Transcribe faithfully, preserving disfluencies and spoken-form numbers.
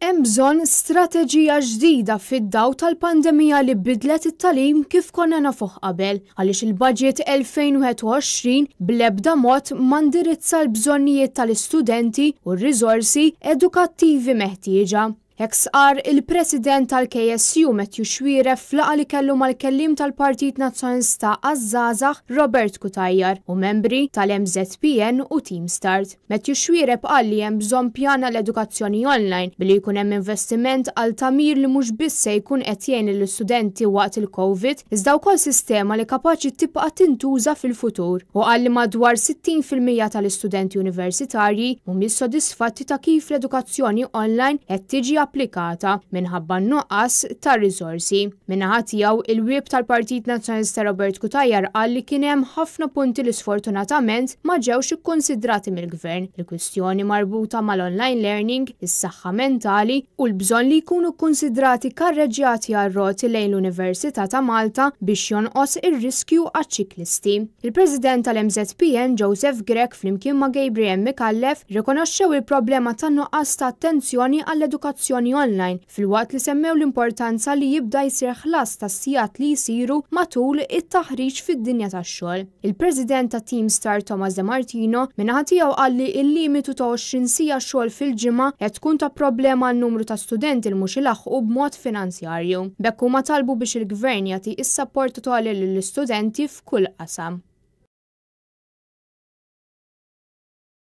Hemm bżonn strateġija ġdida fid-daw tal-pandemija li bidlet it-tagħlim kif konna nafuh qabel, għaliex il-budget elfejn u wieħed u għoxrin bl-ebda mod ma ndirizza l-bżonnijiet tal-istudenti u r-riżorsi edukattivi meħtieġa. Hekk stqarr il-President tal-K S U Matthew Xuereb f'laqgħa li kellu mal-kellim tal-Partit Nazzjonalista għaż-Żgħażagħ Robert Cutajar u membri tal-M Z P N u Team Start. Matthew Xuereb qal li hemm bżonn pjan l-edukazzjoni online billi jkun hemm investiment għal tagħmir li mhux biss se jkun qed jgħin lill-istudenti waqt il-Covid, iżda wkoll sistema li kapaċi tibqa' tintuża fil-futur. U qal li madwar sittin fil-mija tal-istudenti universitarji mhumiex sodisfatti ta' kif l-edukazzjoni online qed tiġi applikata minħabba nuqqas ta' riżorsi. Min-naħa tiegħu, il-whip tal-Partit Nazzjonalista Robert Cutajar qal li kien hemm ħafna punti li sfortunatament ma ġewx ikkonsidrati mill-gvern. Il-kwistjoni marbuta mal-online learning, is-saħħa mentali u l-bżonn li jkunu kkonsidrati karreġjati għar-roti lejn l-Università ta' Malta biex jonqos ir-riskju għaċ-ċiklisti. Il-President tal-M Z P N Joseph Grech flimkien ma' Gabriel Micallef rikonoxxew il-problema ta' nuqqas ta' attenzjoni għall-edukazzjoni online filwaqt li semmew l-importanza li jibda jsir ħlas ta' sigħat li jsiru matul it-taħriġ fid-dinja tax-xogħol. Il-President ta' Team Star Thomas De Martino min-naħa tiegħu qal li il-limitu ta' għoxrin siegħa xogħol fil-ġimgħa qed tkun ta' problema għal numru ta' studenti li mhux ilaħħqu b'mod finanzjarju. B'hekk huma talbu biex il-gvern jagħti is-sapport totali lill-istudenti f'kull qasam.